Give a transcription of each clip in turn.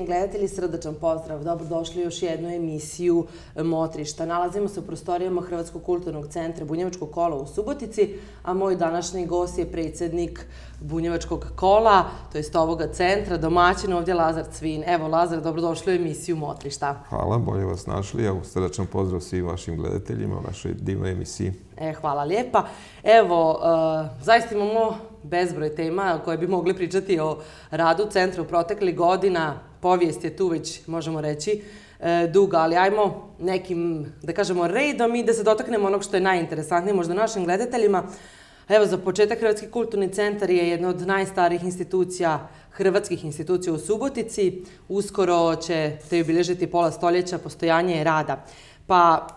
cijeni gledatelji, srdačan pozdrav. Dobrodošli u još jednu emisiju Motrišta. Nalazimo se u prostorijama Hrvatskog kulturnog centra Bunjevačkog kola u Subotici, a moj današnji gost je predsjednik Bunjevačkog kola, to jest ovoga centra, domaćin ovdje Lazar Cvin. Evo, Lazar, dobrodošli u emisiju Motrišta. Hvala, bolje vas našli. Evo, srdačan pozdrav svim vašim gledateljima u našoj divnoj emisiji. Hvala lijepa. Evo, zaista imamo bezbroj tema koje bi mogli pričati o radu centra u proteklih godina. Povijest je tu već, možemo reći, duga, ali ajmo nekim, da kažemo, redom i da se dotaknemo onog što je najinteresantnije možda našim gledateljima. Evo, za početak, Hrvatski kulturni centar je jedna od najstarijih institucija, hrvatskih institucija u Subotici. Uskoro ćete obilježiti pola stoljeća postojanja i rada. Pa,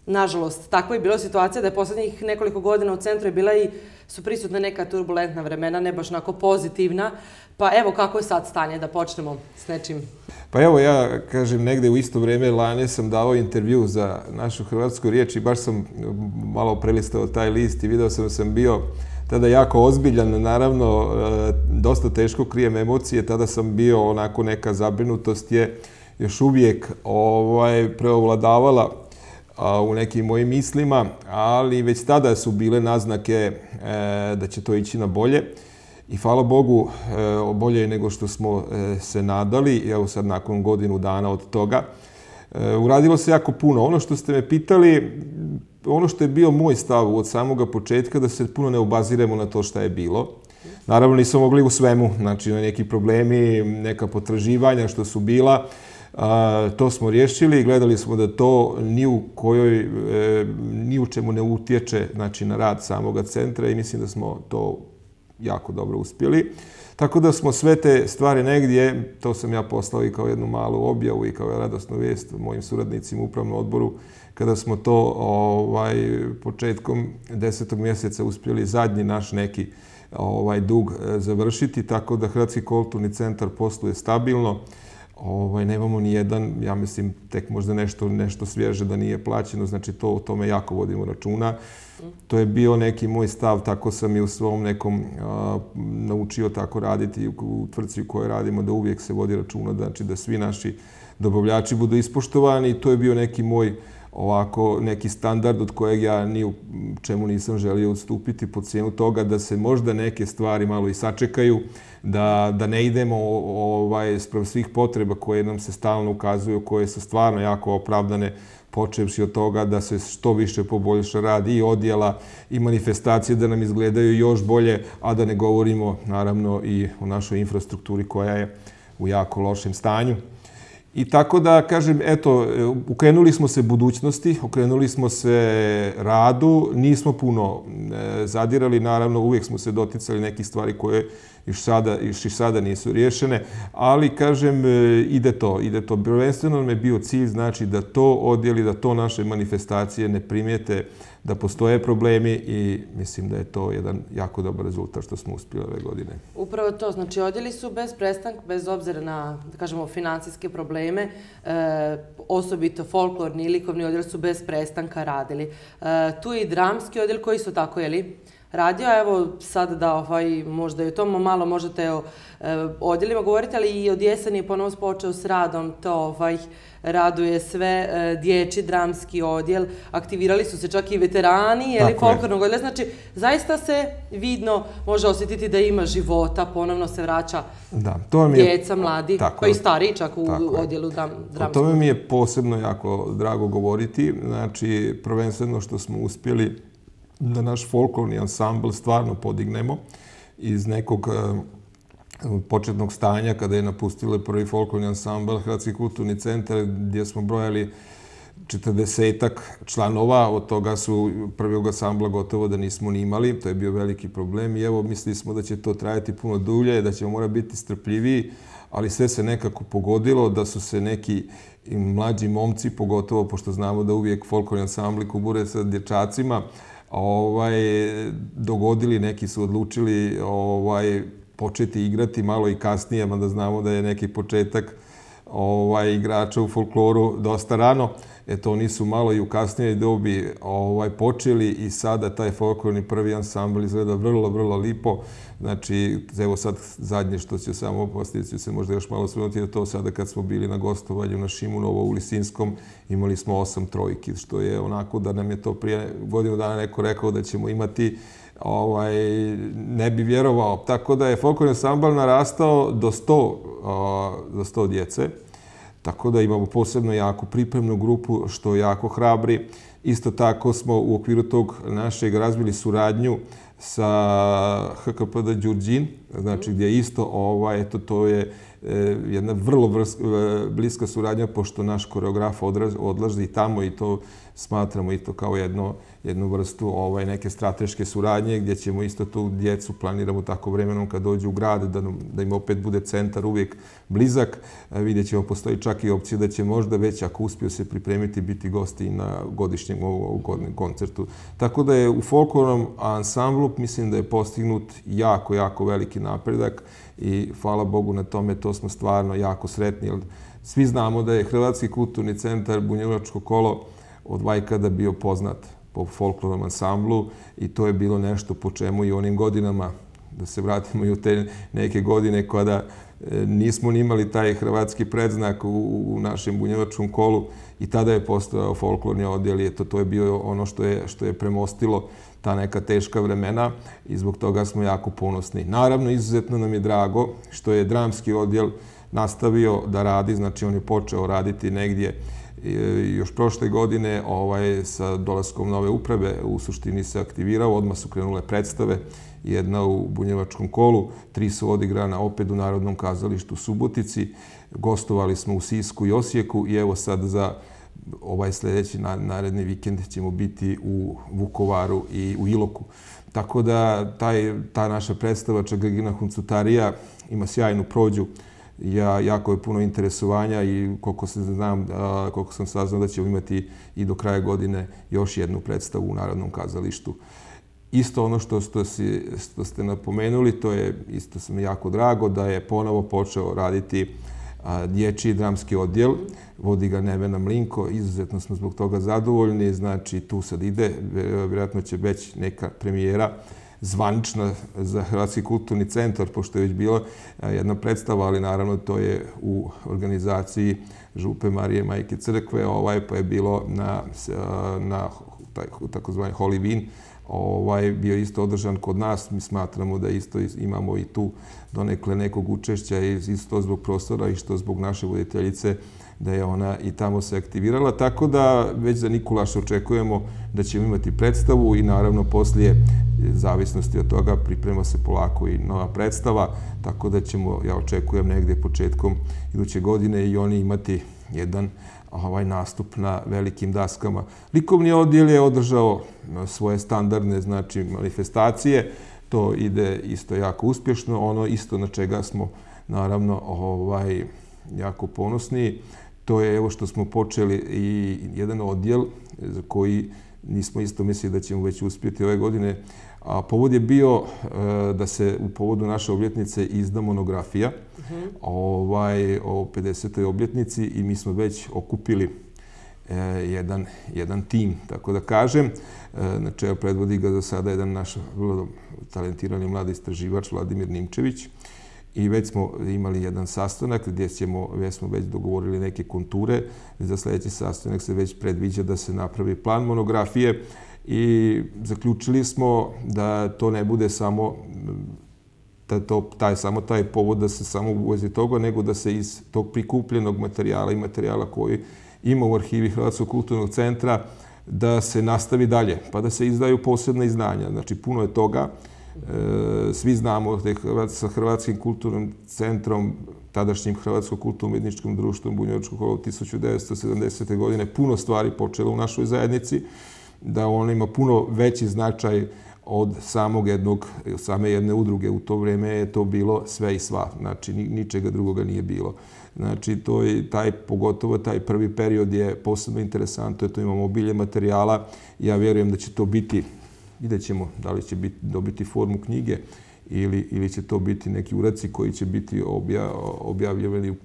nažalost, takva je bila situacija da je posljednjih nekoliko godina u centru je bila i su prisutna neka turbulentna vremena, ne baš onako pozitivna. Pa evo, kako je sad stanje, da počnemo s nečim? Pa evo, ja kažem, negde u isto vrijeme lani sam dao intervju za našu hrvatsku riječ i baš sam malo prelistao taj list i video sam da sam bio tada jako ozbiljan, naravno, dosta teško krijem emocije, tada sam bio onako, neka zabrinutost je još uvijek preovladavala u nekim mojim mislima, ali već tada su bile naznake da će to ići na bolje. I hvala Bogu, bolje je nego što smo se nadali. Evo sad nakon godinu dana od toga. Uradilo se jako puno. Ono što ste me pitali, ono što je bio moj stav od samoga početka, da se puno ne obaziremo na to šta je bilo. Naravno nismo mogli u svemu, znači na neki problemi, neka potraživanja što su bila. To smo riješili i gledali smo da to ni u čemu ne utječe, znači, na rad samoga centra i mislim da smo to jako dobro uspjeli. Tako da smo sve te stvari negdje, to sam ja poslao i kao jednu malu objavu i kao radosnu vijest mojim suradnicima u upravnom odboru, kada smo to početkom 10. mjeseca uspjeli zadnji naš neki dug završiti, tako da Hrvatski kulturni centar posluje stabilno. Nemamo ni jedan, ja mislim, tek možda nešto svježe da nije plaćeno, znači o tome jako vodimo računa. To je bio neki moj stav, tako sam i u svom nekom naučio tako raditi u tvrtci u kojoj radimo, da uvijek se vodi računa, znači da svi naši dobavljači budu ispoštovani i to je bio neki moj neki standard od kojeg ja ni u čemu nisam želio odstupiti po cijenu toga da se možda neke stvari malo i sačekaju, da ne idemo sprem svih potreba koje nam se stalno ukazuju, koje su stvarno jako opravdane, počevši od toga da se što više poboljša rad i odjela i manifestacije da nam izgledaju još bolje, a da ne govorimo naravno i o našoj infrastrukturi koja je u jako lošem stanju. I tako da, kažem, eto, okrenuli smo se budućnosti, okrenuli smo se radu, nismo puno zadirali, naravno uvijek smo se doticali nekih stvari koje još i sada nisu riješene, ali, kažem, ide to. Prvenstveno nam je bio cilj, znači, da to odjeli, da to naše manifestacije ne primijete, da postoje problemi i mislim da je to jedan jako dobar rezultat što smo uspjeli ove godine. Upravo to, znači odjeli su bez prestanka, bez obzira na, da kažemo, financijske probleme, osobito folklorni i likovni odjel su bez prestanka radili. Tu je i dramski odjel koji su tako, radio, evo sad da možda i o tom malo možete o odjelima govoriti, ali i od jeseni je ponovno počeo s radom, to raduje sve, dječji dramski odjel, aktivirali su se čak i veterani, folklornog odjela, znači zaista se vidno može osjetiti da ima života, ponovno se vraća djeca, mladi, koji stariji čak u odjelu dramskog. O tome mi je posebno jako drago govoriti, znači prvenstveno što smo uspjeli da naš folklorni ansambl stvarno podignemo iz nekog početnog stanja kada je napustili prvi folklorni ansambl Hrvatski kulturni centar gdje smo brojali 40-ak članova, od toga su prvog ansambla gotovo da nismo ni imali, to je bio veliki problem i evo mislili smo da će to trajati puno dulje, da ćemo morati biti strpljiviji, ali sve se nekako pogodilo da su se neki mlađi momci, pogotovo pošto znamo da uvijek folklorni ansambli kubure sa dječacima, dogodili, neki su odlučili početi igrati malo i kasnije, mada znamo da je neki početak igrača u folkloru dosta rano. Eto, oni su malo i u kasnijoj dobi počeli i sada taj folklorni prvi ansambl izgleda vrlo, vrlo lipo. Znači, evo sad zadnje što će samo postaviti se možda još malo svrnuti je to sada kad smo bili na gostovanju na Šimunovo u Lisinskom, imali smo 8 trojki, što je onako da nam je to prije godinu dana neko rekao da ćemo imati, ne bi vjerovao. Tako da je folklorni ansambl narastao do 100 djece. Tako da imamo posebno jaku pripremnu grupu, što jako hrabri. Isto tako smo u okviru tog našeg razvili suradnju sa HKPD Đurđin, znači gdje isto, to je jedna vrlo bliska suradnja, pošto naš koreograf odlazi i tamo i to smatramo i to kao jednu vrstu neke strateške suradnje, gdje ćemo isto tu djecu planiramo tako vremenom kad dođu u grad, da im opet bude centar uvijek blizak. Vidjet ćemo, postoji čak i opcija da će možda već, ako uspiju se pripremiti, biti gosti na godišnjem koncertu. Tako da je u folklornom ansamblu, mislim da je postignut jako, jako veliki napredak i hvala Bogu na tome, to smo stvarno jako sretni. Svi znamo da je Hrvatski kulturni centar Bunjevačko kolo od vajkada bio poznat po folklornom ansamblu i to je bilo nešto po čemu i onim godinama, da se vratimo i u te neke godine kada nismo ni imali taj hrvatski predznak u našem bunjevačkom kolu i tada je postojao folklorni odjel i to je bio ono što je premostilo ta neka teška vremena i zbog toga smo jako ponosni. Naravno, izuzetno nam je drago što je dramski odjel nastavio da radi, znači on je počeo raditi negdje još prošle godine sa dolaskom nove uprave u suštini se aktivirao, odmah su krenule predstave, jedna u Bunjevačkom kolu, 3 su odigrana opet u Narodnom kazalištu Subotici, gostovali smo u Sisku i Osijeku i evo sad za sljedeći naredni vikend ćemo biti u Vukovaru i u Iloku. Tako da ta naša predstava Čagagina Huncutarija ima sjajnu prođu. Jako je puno interesovanja i koliko sam saznao da ćemo imati i do kraja godine još jednu predstavu u Narodnom kazalištu. Isto ono što ste napomenuli, to je isto sam jako drago da je ponovo počeo raditi dječji dramski odjel. Vodi ga Nevena Mlinko, izuzetno smo zbog toga zadovoljni, znači tu sad ide, vjerojatno će već neka premijera zvanična za Hrvatski kulturni centar, pošto je već bila jedna predstava, ali naravno to je u organizaciji Župe Marije Majke Crkve, pa je bilo na takozvani Holy Win, bio isto održan kod nas. Mi smatramo da isto imamo i tu donekle nekog učešća isto zbog prostora i što zbog naše voditeljice da je ona i tamo se aktivirala. Tako da već za Nikulaša očekujemo da ćemo imati predstavu i naravno poslije zavisnosti od toga priprema se polako i nova predstava. Tako da ćemo, ja očekujem negdje početkom iduće godine i oni imati jedan nastup na velikim daskama. Likovni odjel je održao svoje standardne manifestacije. To ide isto jako uspješno. Ono isto na čega smo naravno jako ponosni. To je evo što smo počeli i jedan odjel za koji nismo isto mislili da ćemo već uspjeti ove godine. A povod je bio da se u povodu naše obljetnice izda monografija o 50. obljetnici i mi smo već okupili jedan tim, tako da kažem. Na čelu predvodi ga za sada jedan naš vrlo talentirani mladi istraživač Vladimir Nimčević. I već smo imali jedan sastanak gdje smo već dogovorili neke konture. Za sljedeći sastanak se već predviđa da se napravi plan monografije i zaključili smo da to ne bude samo taj povod da se samo uvezi toga, nego da se iz tog prikupljenog materijala i materijala koji ima u arhivi Hrvatskog kulturnog centra da se nastavi dalje, pa da se izdaju posebna izdanja. Znači, puno je toga. Svi znamo da je sa Hrvatskim kulturnim centrom, tadašnjim Hrvatsko kulturno-umjetničkim društvom Bunjevačko kolo 1970. godine puno stvari počelo u našoj zajednici, da on ima puno veći značaj od same jedne udruge. U to vrijeme je to bilo sve i sva, znači ničega drugoga nije bilo. Znači, pogotovo taj prvi period je posebno interesantno, to imamo obilje materijala. Ja vjerujem da će to biti, vidjet ćemo da li će dobiti formu knjige ili će to biti neki uradci koji će biti objavljeni u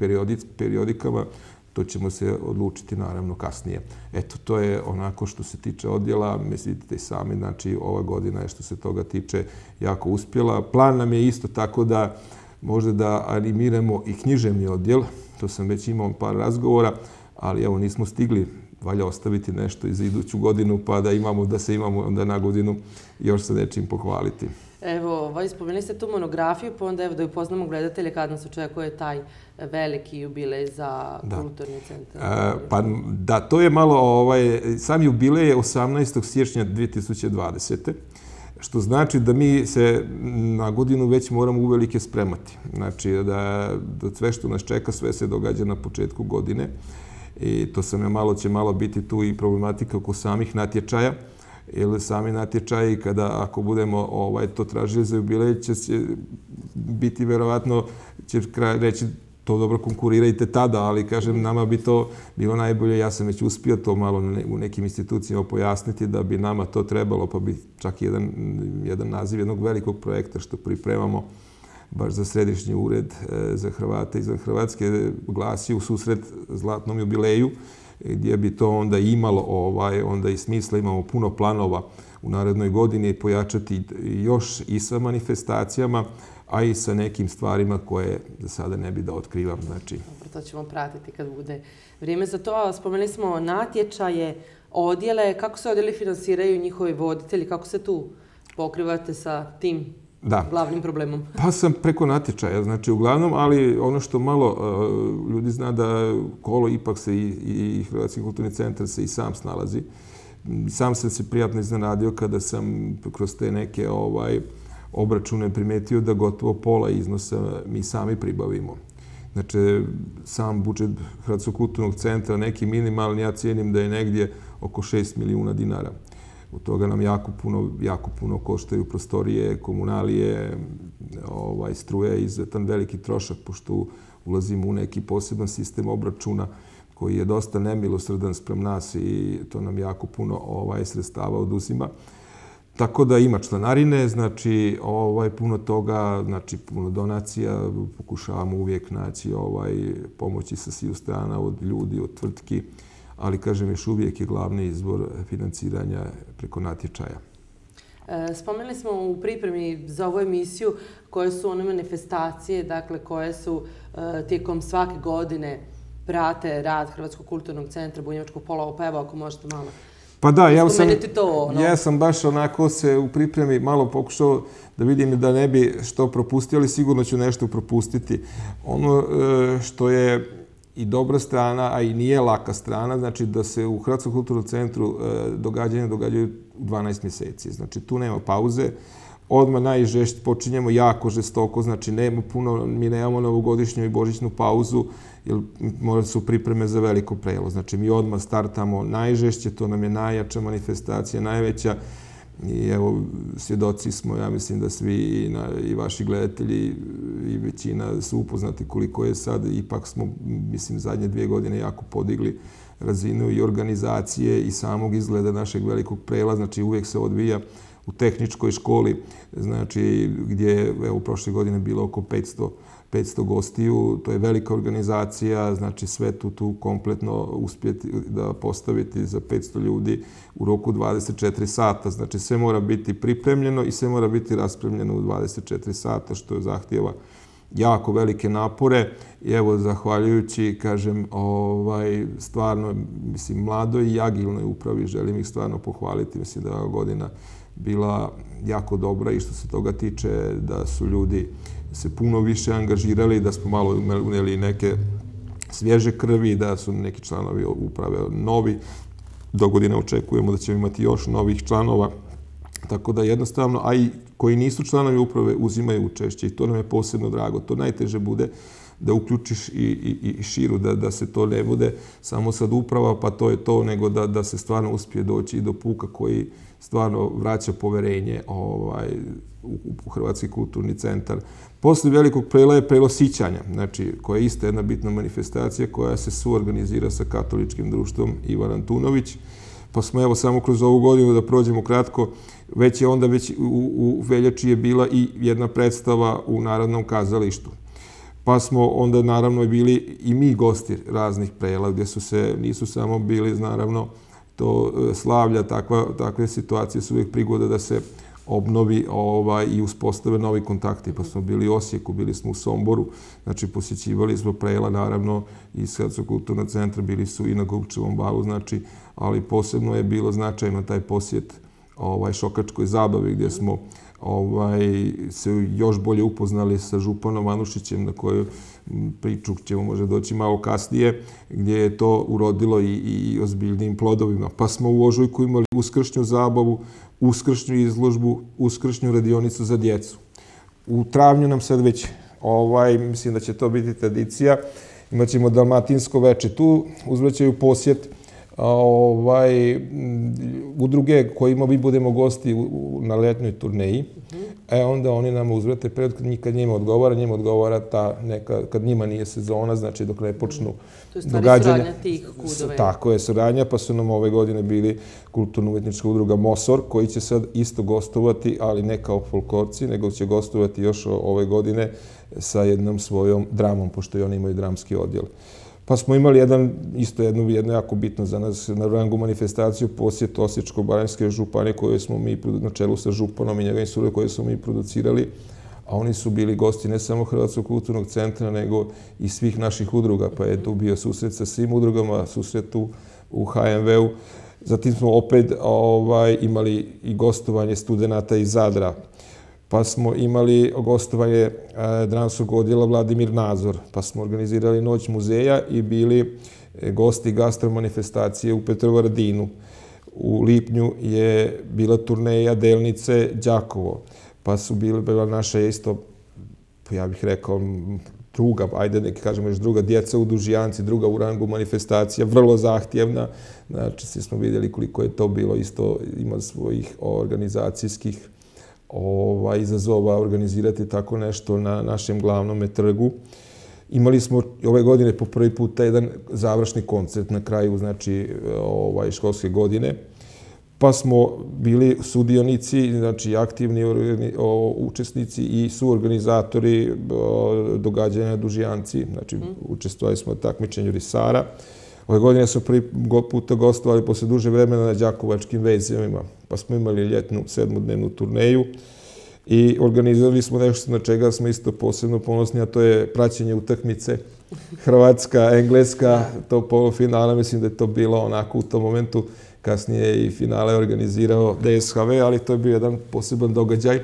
periodikama, to ćemo se odlučiti naravno kasnije. Eto, to je onako što se tiče odjela, mislite i sami, znači ova godina je što se toga tiče jako uspjela. Plan nam je isto tako da možda da animiramo i književni odjel, to sam već imao par razgovora, ali evo nismo stigli, valja ostaviti nešto i za iduću godinu pa da se imamo onda na godinu još sa nečim pohvaliti. Evo, spomenuli ste tu monografiju, pa onda evo da upoznamo gledatelje kad nas očekuje taj veliki jubilej za kulturni centar. Pa da, to je malo, sam jubilej je 18. siječnja 2020. Što znači da mi se na godinu već moramo uvelike spremati. Znači da sve što nas čeka, sve se događa na početku godine. I to će malo biti tu i problematika oko samih natječaja. Jer sami natječaji, ako budemo to tražili za jubilej, će biti verovatno, će reći to dobro konkurirajte tada, ali kažem, nama bi to bilo najbolje. Ja sam već uspio to malo u nekim institucijama pojasniti da bi nama to trebalo, pa bi čak jedan naziv jednog velikog projekta što pripremamo baš za Središnji ured za Hrvate izvan Hrvatske glasi u susret zlatnom jubileju, gdje bi to onda imalo onda i smisla. Imamo puno planova u narednoj godini pojačati još i sa manifestacijama, a i sa nekim stvarima koje za sada ne bi da otkrivam. Znači, to ćemo pratiti kad bude vrijeme za to. Spomenuli smo natječaje, odjele. Kako se odjeli finansiraju njihovi voditelji? Kako se tu pokrivate sa tim glavnim problemom? Pa sam preko natječaja, znači uglavnom, ali ono što malo ljudi zna da Kolo ipak se i Hrvatski kulturni centar se i sam snalazi. Sam sam se prijatno iznenadio kada sam kroz te neke obračune primetio da gotovo pola iznosa mi sami pribavimo. Znači, sam budžet Hrvatskog kulturnog centra, neki minimalni, ja cijenim da je negdje oko 6 milijuna dinara. Od toga nam jako puno koštaju prostorije, komunalije, struje, izuzetan veliki trošak, pošto ulazimo u neki poseban sistem obračuna koji je dosta nemilosrdan sprem nas i to nam jako puno sredstava oduzima. Tako da ima članarine, znači puno toga, znači puno donacija, pokušavamo uvijek naći pomoći sa sviju strana od ljudi, od tvrtki, ali kažem još uvijek je glavni izvor financiranja preko natječaja. Spomenuli smo u pripremi za ovu emisiju koje su one manifestacije, dakle koje su tijekom svake godine prate rad Hrvatskog kulturnog centra Bunjevačkog polova, pa evo ako možete malo. Pa da, ja sam baš onako se u pripremi malo pokušao da vidim da ne bi što propustio, ali sigurno ću nešto propustiti. Ono što je i dobra strana, a i nije laka strana, znači da se u Hrvatskom kulturnom centru događaju u 12 mjeseci. Znači tu nema pauze. Odmah najžešće počinjemo jako žestoko, znači mi nemamo novogodišnju i božićnu pauzu, jer su pripreme za veliko prelo. Znači mi odmah startamo najžešće, to nam je najjača manifestacija, najveća. I evo, svjedoci smo, ja mislim da svi i vaši gledatelji i većina su upoznati koliko je sad. Ipak smo, mislim, zadnje 2 godine jako podigli razinu i organizacije i samog izgleda našeg velikog prela. Znači uvijek se odvija u tehničkoj školi, znači gdje je u prošle godine bilo oko 500 gostiju. To je velika organizacija, znači sve tu kompletno uspjeti da postaviti za 500 ljudi u roku 24 sata. Znači sve mora biti pripremljeno i sve mora biti raspremljeno u 24 sata, što zahtijeva jako velike napore. I evo, zahvaljujući, kažem, stvarno, mislim, mladoj i agilnoj upravi, želim ih stvarno pohvaliti. Mislim da je ova godina bila jako dobra i što se toga tiče da su ljudi se puno više angažirali, da smo malo unijeli neke svježe krvi, da su neki članovi uprave novi. Do godine očekujemo da ćemo imati još novih članova. Tako da jednostavno, a i koji nisu članovi uprave uzimaju učešće i to nam je posebno drago. To najteže bude da uključiš i širu, da se to ne bude samo sad uprava, pa to je to, nego da se stvarno uspije doći i do puka koji stvarno vraća poverenje u Hrvatski kulturni centar. Poslije velikog prela je prelo Sićanja, znači koja je isto jedna bitna manifestacija koja se suorganizira sa Katoličkim društvom Ivan Antunović. Pa smo evo samo kroz ovu godinu da prođemo kratko, već u veljači je bila i jedna predstava u Narodnom kazalištu. Pa smo onda naravno bili i mi gosti raznih prela gdje nisu samo bili naravno to slavlja, takve situacije su uvijek prigoda da se obnovi i uspostave novi kontakti. Pa smo bili u Osijeku, bili smo u Somboru, znači posjećivali smo prela naravno iz Hrvatskog kulturnog centra, bili su i na Gubčevom balu, znači, ali posebno je bilo značajno taj posjet Šokačkoj zabavi gdje smo se još bolje upoznali sa županom Anušićem, na koju priču ćemo možda doći malo kasnije, gdje je to urodilo i ozbiljnim plodovima. Pa smo u ožujku imali uskršnju zabavu, uskršnju izložbu, uskršnju radionicu za djecu. U travnju nam sad već, mislim da će to biti tradicija, imat ćemo dalmatinsko veče. Tu uzvraćaju posjet udruge kojima mi budemo gosti na letnjoj turneji, onda oni nam uzvrate kad njima odgovara ta neka, kad njima nije sezona, znači dok ne počnu događanja. To je stvari suradnja tih kudova. Tako je, suradnja, pa su nam ove godine bili kulturno-umetnička udruga Mosor, koji će sad isto gostovati, ali ne kao folklorci, nego će gostovati još ove godine sa jednom svojom dramom, pošto i oni imaju dramski odjel. Pa smo imali jednu jako bitno za nas na rangu manifestaciju, posjet Osječko-baranjske županije koje smo mi na čelu sa županom i njegovim suradom koje smo mi producirali, a oni su bili gosti ne samo Hrvatskog kulturnog centra, nego i svih naših udruga, pa je tu bio susret sa svim udrugama, susret u HMV-u. Zatim smo opet imali i gostovanje studenata iz Zadra. Pa smo imali gostovanje dramskog odjela Vladimir Nazor, pa smo organizirali Noć muzeja i bili gosti gastromanifestacije u Petrovaradinu. U lipnju je bila turneja Delnice Đakovo, pa su bila naša isto, ja bih rekao, druga, ajde neki kažemo još druga, djeca u Dužijanci, druga u rangu manifestacija, vrlo zahtjevna. Znači, svi smo vidjeli koliko je to bilo isto, ima svojih organizacijskih izazova organizirati tako nešto na našem glavnom trgu. Imali smo ove godine po prvi puta jedan završni koncert na kraju, znači, školske godine. Pa smo bili sudionici, znači aktivni učesnici i suorganizatori događanja na Dužijanci. Znači, učestvovali smo u takmičenju risara. Ove godine smo prvi puta gostovali posle duže vremena na Đakovačkim vezovima, pa smo imali ljetnu 7-dnevnu turneju i organizovali smo nešto na čega smo isto posebno ponosni, a to je praćenje utakmice Hrvatska, Engleska, to polufinale, mislim da je to bilo onako u tom momentu, kasnije i finale organizirao DSHV, ali to je bio jedan poseban događaj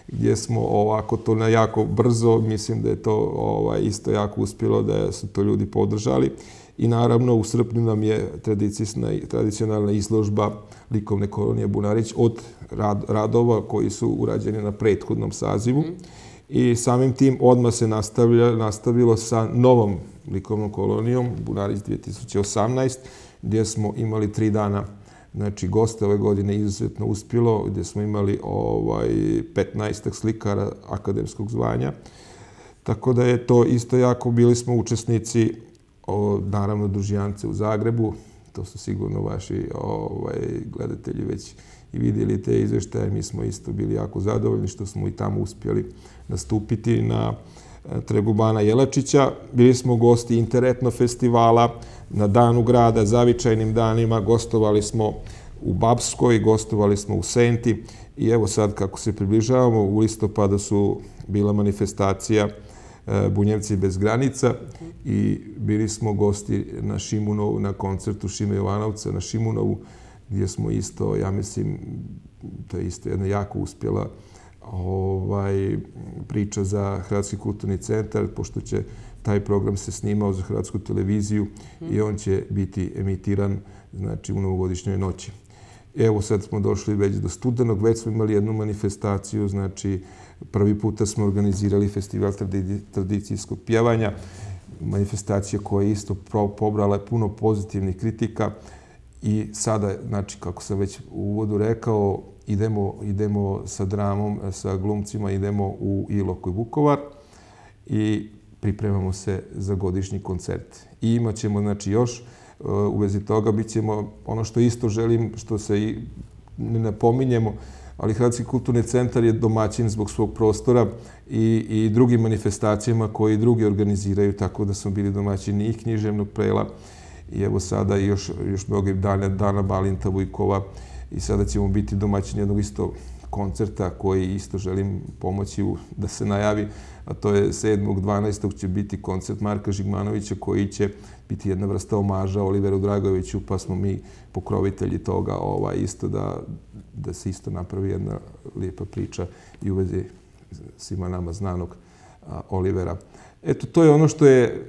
gdje smo ovako to na jako brzo, mislim da je to isto jako uspjelo, da su to ljudi podržali. I naravno u srpnju nam je tradicionalna izložba likovne kolonije Bunarić od radova koji su urađeni na prethodnom sazivu. I samim tim odmah se nastavilo sa novom likovnom kolonijom Bunarić 2018, gdje smo imali 3 dana. Znači, goste ove godine izuzetno uspjelo, gdje smo imali 15 slikara akademskog zvanja. Tako da je to isto jako, bili smo učesnici naravno Dužijance u Zagrebu, to su sigurno vaši gledatelji već i vidjeli te izvještaje. Mi smo isto bili jako zadovoljni što smo i tamo uspjeli nastupiti na trgu Bana Jelačića. Bili smo gosti Interetno festivala na Danu grada, zavičajnim danima, gostovali smo u Bapskoj, gostovali smo u Senti i evo sad kako se približavamo, u listopadu su bila manifestacija Bunjevci bez granica i bili smo gosti na Šimunovu, na koncertu Šime Jovanovca na Šimunovu, gdje smo isto, ja mislim, to je isto jedna jako uspjela priča za Hrvatski kulturni centar, pošto će taj program se snimao za Hrvatsku televiziju i on će biti emitiran, znači, u novogodišnjoj noći. Evo sad smo došli već do studenog, već smo imali jednu manifestaciju, znači prvi puta smo organizirali festival tradicijskog pjevanja, manifestacija koja je isto pobrala puno pozitivnih kritika i sada, znači, kako sam već u uvodu rekao, idemo sa dramom, sa glumcima, idemo u Ilok i Vukovar i pripremamo se za godišnji koncert. I imat ćemo, znači, još u vezi toga. Bićemo ono što isto želim, što se i ne napominjemo, ali Hrvatski kulturni centar je domaćin zbog svog prostora i drugim manifestacijama koje i drugi organiziraju, tako da smo bili domaćini i književnog prela i evo sada još mnogo dana Balinta Vujkova i sada ćemo biti domaćini jednog isto koncerta koji isto želim pomoći da se najavi, a to je 7.12. će biti koncert Marka Žigmanovića koji će biti jedna vrsta omaža Oliveru Dragojeviću, pa smo mi pokrovitelji toga isto da se isto napravi jedna lijepa priča i u vezi svima nama znanog Olivera. Eto, to je ono što je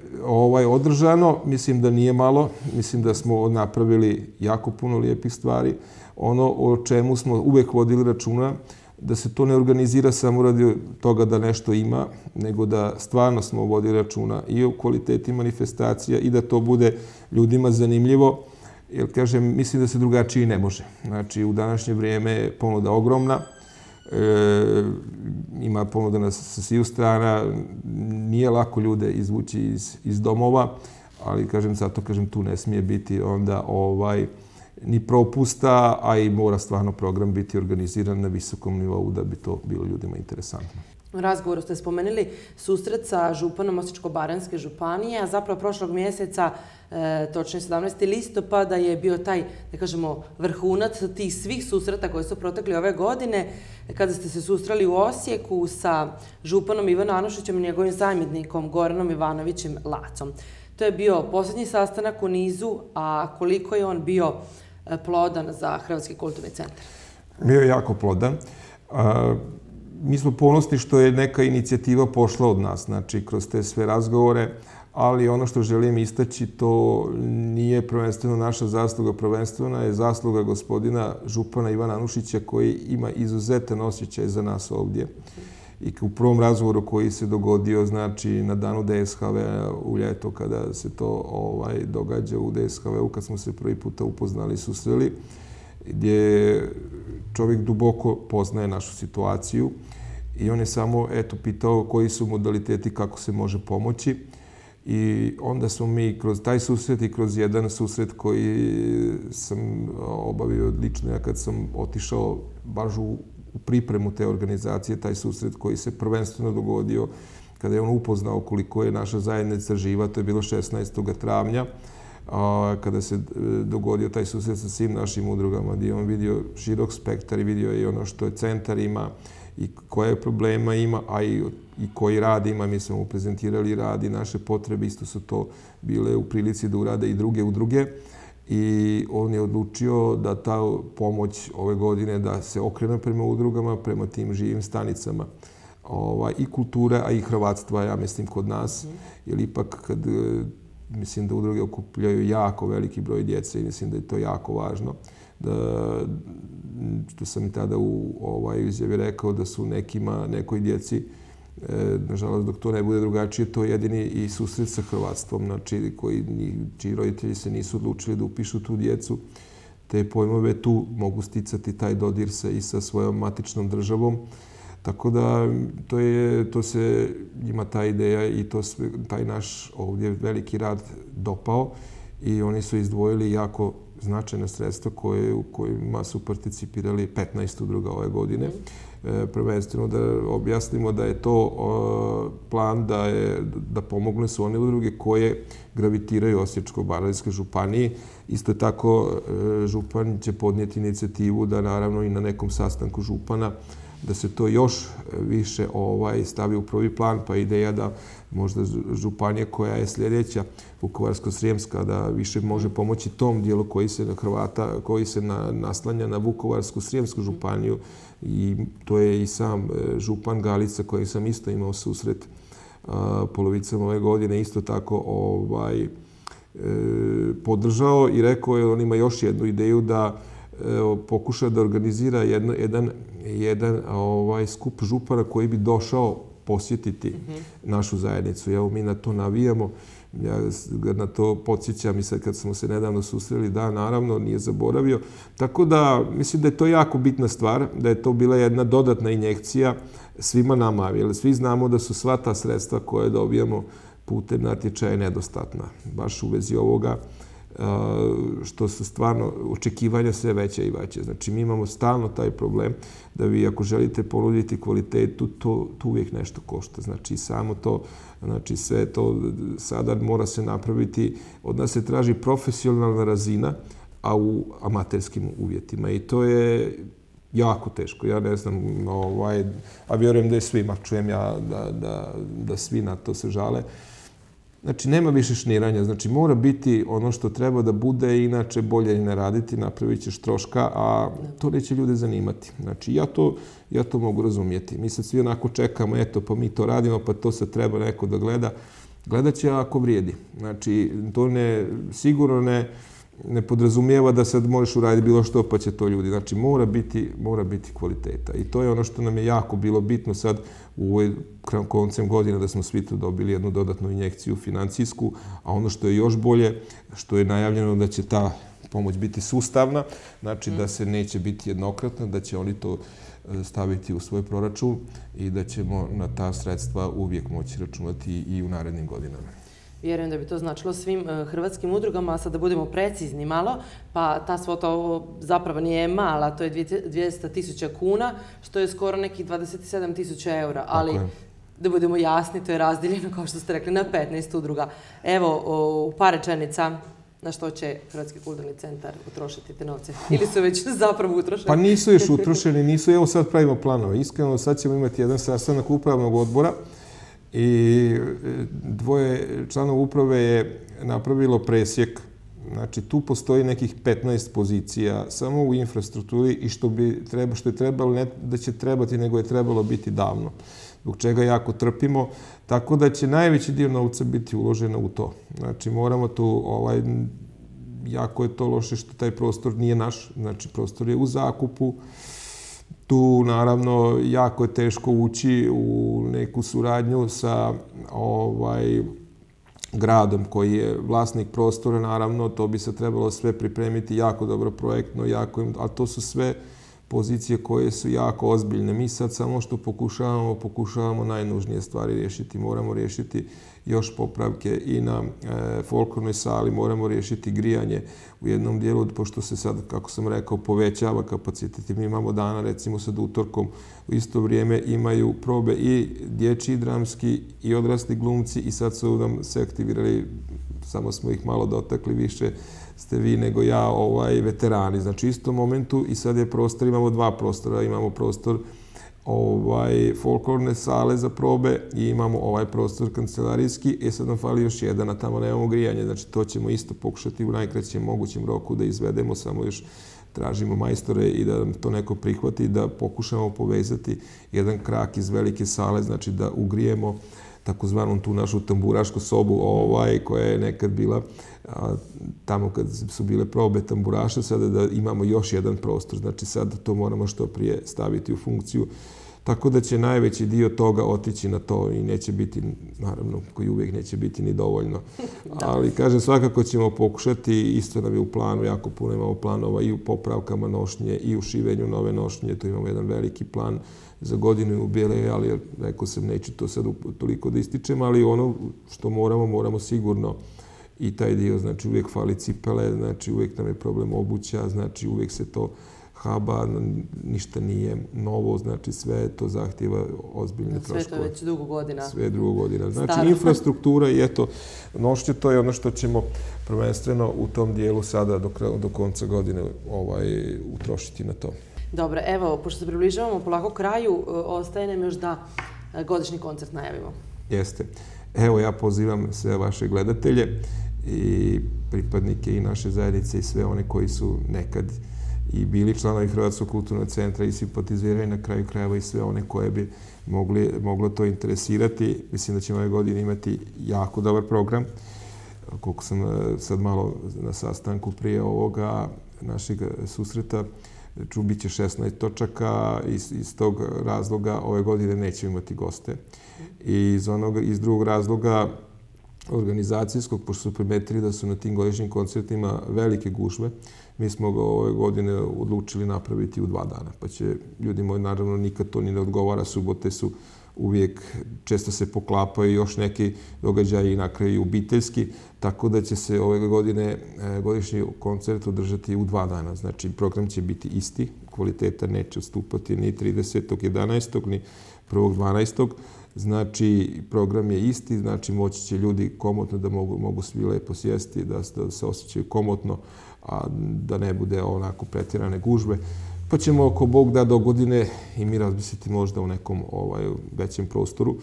održano. Mislim da nije malo. Mislim da smo napravili jako puno lijepih stvari. Ono o čemu smo uvek vodili računa, da se to ne organizira samo radi toga da nešto ima, nego da stvarno smo vodili računa i o kvaliteti manifestacija i da to bude ljudima zanimljivo. Jer, kažem, mislim da se drugačije ne može. Znači, u današnje vrijeme je ponuda ogromna. Ima ponuda sa sviju strana, nije lako ljude izvući iz domova, ali zato tu ne smije biti onda ni propusta, a i mora stvarno program biti organiziran na visokom nivou da bi to bilo ljudima interesantno. U razgovoru ste spomenuli susret sa županom Osječko-baranjske županije, a zapravo prošlog mjeseca, točnije 17. listopada, je bio taj, da kažemo, vrhunac tih svih susreta koji su protekli ove godine, kada ste se susreli u Osijeku sa županom Ivanom Anušićem i njegovim zamjenikom Goranom Ivanovićem Lacom. To je bio posljednji sastanak u nizu, a koliko je on bio plodan za Hrvatski kulturni centar? Bio je jako plodan. Mi smo ponosni što je neka inicijativa pošla od nas, znači kroz te sve razgovore, ali ono što želim istaći, to nije prvenstveno naša zasluga, prvenstveno je zasluga gospodina župana Ivana Anušića koji ima izuzetan osjećaj za nas ovdje. I u prvom razgovoru koji se dogodio, znači na danu DSHV u ljeto, kada se to događa u DSHV-u, kad smo se prvi puta upoznali i susreli, gdje čovjek duboko poznaje našu situaciju i on je samo pitao koji su modaliteti kako se može pomoći. I onda smo mi kroz taj susret i kroz jedan susret koji sam obavio lično, ja kad sam otišao baš u pripremu te organizacije, taj susret koji se prvenstveno dogodio kada je on upoznao koliko je naša zajednica živa, to je bilo 16. travnja, kada se dogodio taj susret sa svim našim udrugama, gdje je on vidio širok spektar i vidio je ono što je centar ima i koje problema ima, a i koji rad ima. Mi smo mu prezentirali rad i naše potrebe, isto su to bile u prilici da urade i druge udruge. I on je odlučio da ta pomoć ove godine da se okrene prema udrugama, prema tim živim stanicama. I kultura, a i hrvatstva, ja mislim, kod nas. Jer ipak, kad mislim da udruge okupljaju jako veliki broj djece i mislim da je to jako važno. Što sam i tada u izjavi rekao da su nekoj djeci, nažalost, dok to ne bude drugačije, to je jedini i susret sa hrvatstvom, znači čiji roditelji se nisu odlučili da upišu tu djecu. Te pojmove tu mogu sticati taj dodir i sa svojom matičnom državom. Tako da to se ima ta ideja i taj naš ovdje veliki rad dopao i oni su izdvojili jako značajna sredstva u kojima su participirali 15 udruga ove godine. Prvenstveno da objasnimo da je to plan da pomogne su one udruge koje gravitiraju Osječko-baranjskoj županiji. Isto tako župan će podnijeti inicijativu da naravno i na nekom sastanku župana da se to još više stavi u prvi plan, pa ideja da možda županija koja je sljedeća, Vukovarsko-srijemska, da više može pomoći tom dijelu koji se naslanja na Vukovarsko-srijemsku županiju. I to je i sam župan Galica koji sam isto imao susret polovicom ove godine, isto tako podržao i rekao je on ima još jednu ideju da pokuša da organizira jedan skup župana koji bi došao posjetiti našu zajednicu. Evo, mi na to navijamo. Ja ga na to podsjećam i sad kad smo se nedavno susreli, da, naravno, nije zaboravio. Tako da, mislim da je to jako bitna stvar, da je to bila jedna dodatna injekcija svima nama, jer svi znamo da su sva ta sredstva koje dobijamo putem natječaja nedostatna. Baš u vezi ovoga što su stvarno očekivanja sve veća i veća. Znači, mi imamo stalno taj problem da vi ako želite ponuditi kvalitetu, to uvijek nešto košta. Znači, samo to, znači sve to sada mora se napraviti, od nas se traži profesionalna razina, a u amaterskim uvjetima. I to je jako teško. Ja ne znam, a vjerujem da je svima, čujem ja da svi na to se žale. Znači, nema više šniranja. Znači, mora biti ono što treba da bude, inače bolje i ne raditi, napravit ćeš troška, a to neće ljude zanimati. Znači, ja to mogu razumijeti. Mi sad svi onako čekamo, eto, pa mi to radimo, pa to sad treba neko da gleda. Gledat će ako vrijedi. Znači, to sigurno ne podrazumijeva da sad možeš uraditi bilo što pa će to ljudi. Znači, mora biti kvaliteta. I to je ono što nam je jako bilo bitno sad u koncem godine da smo svi tu dobili jednu dodatnu injekciju financijsku, a ono što je još bolje, što je najavljeno da će ta pomoć biti sustavna, znači da se neće biti jednokratna, da će oni to staviti u svoj proračun i da ćemo na ta sredstva uvijek moći računati i u narednim godinama. Vjerujem da bi to značilo svim hrvatskim udrugama, a sad da budemo precizni malo, pa ta svota zapravo nije mala, to je 200.000 kuna, što je skoro nekih 27.000 eura, ali da budemo jasni, to je razdijeljeno, kao što ste rekli, na 15 udruga. Evo, u par rečenica, na što će Hrvatski kulturni centar utrošiti te novce? Ili su već zapravo utrošeni? Pa nisu još utrošeni, evo sad pravimo planove. Iskreno, sad ćemo imati jedan sastanak upravnog odbora, i dvoje članova uprave je napravilo presjek. Znači, tu postoji nekih 15 pozicija samo u infrastrukturi i što je trebalo, ne da će trebati, nego je trebalo biti davno. Zbog čega jako trpimo. Tako da će najveći dio novca biti uloženo u to. Znači, moramo tu, jako je to loše što taj prostor nije naš. Znači, prostor je u zakupu. Tu, naravno, jako je teško ući u neku suradnju sa gradom koji je vlasnik prostora. Naravno, to bi se trebalo sve pripremiti jako dobro projektno, a to su sve pozicije koje su jako ozbiljne. Mi sad samo što pokušavamo najnužnije stvari riješiti. Moramo riješiti još popravke i na folklornoj sali, moramo riješiti grijanje u jednom dijelu, pošto se sad, kako sam rekao, povećava kapacitet. Mi imamo dana, recimo sad utorkom, u isto vrijeme imaju probe i dječji, dramski i odrasli glumci i sad su nam se aktivirali, samo smo ih malo dotakli, više ste vi nego ja, veterani. Znači, u istom momentu i sad je prostor, imamo dva prostora, imamo prostor folklorne sale za probe i imamo ovaj prostor kancelarijski i sad nam fali još jedan, a tamo nemamo grijanje. Znači, to ćemo isto pokušati u najkraćem mogućem roku da izvedemo, samo još tražimo majstore i da nam to neko prihvati, da pokušamo povezati jedan krak iz velike sale, znači da ugrijemo takozvanom tu našu tamburašku sobu koja je nekad bila tamo kad su bile probe tamburaša, sada da imamo još jedan prostor. Znači sad to moramo što prije staviti u funkciju. Tako da će najveći dio toga otići na to i neće biti, naravno, koji uvijek neće biti ni dovoljno. Ali, kažem, svakako ćemo pokušati, isto nam je u planu, jako puno imamo planova i u popravkama nošnje i u šivenju nove nošnje. To imamo jedan veliki plan za godinu jubileja, ali rekao sam, neću to sad toliko da ističem, ali ono što moramo sigurno i taj dio, znači uvijek fali cipele, znači uvijek nam je problem obuća, znači uvijek se to haba, ništa nije novo, znači sve to zahtjeva ozbiljne troškove. Sve to već dugo godina. Sve dugo godina. Znači infrastruktura i eto, nošnje, to je ono što ćemo prvenstveno u tom dijelu sada do konca godine utrošiti na to. Dobro, evo, pošto se približavamo polako kraju, ostaje nam još da godišnji koncert najavimo. Jeste. Evo, ja pozivam sve vaše gledatelje i pripadnike i naše zajednice i sve one koji su nekad i bili članovi Hrvatskog kulturnog centra i simpatiziraju na kraju krajeva i sve one koje bi moglo to interesirati. Mislim da ćemo ove godine imati jako dobar program. Koliko sam sad malo na sastanku prije ovoga našeg susreta, bit će 16 točaka, iz tog razloga ove godine nećemo imati goste. I iz drugog razloga organizacijskog, pošto su primetili da su na tim godišnjim koncertima velike gužve, mi smo ga ove godine odlučili napraviti u 2 dana. Pa će ljudi moji, naravno, nikad to ni ne odgovara, subote su uvijek često se poklapaju još neki događaji i na kraju obiteljski, tako da će se ove godine godišnji koncert održati u 2 dana. Znači, program će biti isti, kvaliteta neće odstupati ni 30.11. ni 1.12. Znači, program je isti, znači moći će ljudi komotno da mogu svi lepo sjesti, da se osjećaju komotno, a da ne bude onako pretjerane gužve. Pa ćemo, ako Bog da, do godine i mi razmisliti možda u nekom većem prostoru.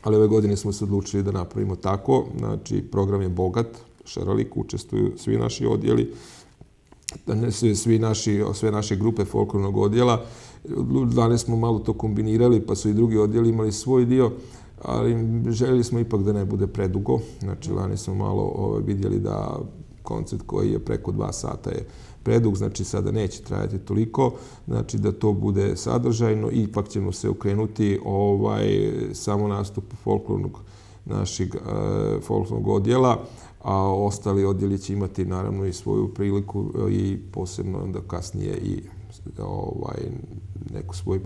Ali ove godine smo se odlučili da napravimo tako. Znači, program je bogat, šarolik, učestvuju svi naši odjeli, sve naše grupe folklornog odjela. Lani smo malo to kombinirali, pa su i drugi odjeli imali svoj dio, ali željeli smo ipak da ne bude predugo. Znači, lani smo malo vidjeli da koncert koji je preko 2 sata je predug, znači sada neće trajati toliko, znači da to bude sadržajno, ipak ćemo se okrenuti samo nastupu našeg folklornog odjela, a ostali odjeli će imati naravno i svoju priliku i posebno onda kasnije i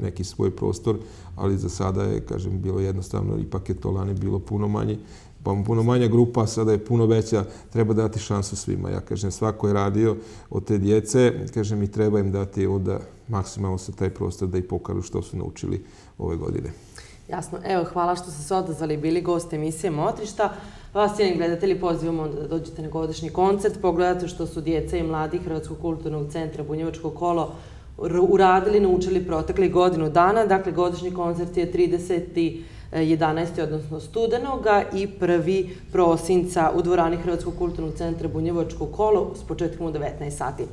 neki svoj prostor, ali za sada je, kažem, bilo jednostavno, ipak je to lani bilo puno manje, pa puno manja grupa, sada je puno veća, treba dati šansu svima. Ja kažem, svako je radio od te djece, kažem, i treba im dati onda maksimalno sa taj prostor da i pokažu što su naučili ove godine. Jasno. Evo, hvala što ste se odazvali, bili gost emisije Motrišta. Vas, cijeni gledatelji, pozivamo da dođete na godišnji koncert, pogledate što su djeca i mladi Hrvatskog kulturnog centra Bunjevačko kolo uradili, naučili proteklih godinu dana. Dakle, godišnji koncert je 30.11. odnosno studenoga i 1. prosinca u dvorani Hrvatskog kulturnog centra Bunjevačko kolo s početkom u 19 sati.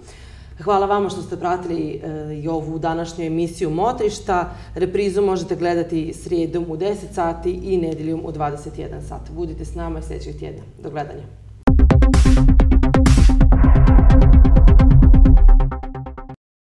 Hvala vama što ste pratili i ovu današnju emisiju Motrišta. Reprizu možete gledati srijedom u 10 sati i nedjeljom u 21 sat. Budite s nama i sljedećeg tjedna. Do gledanja.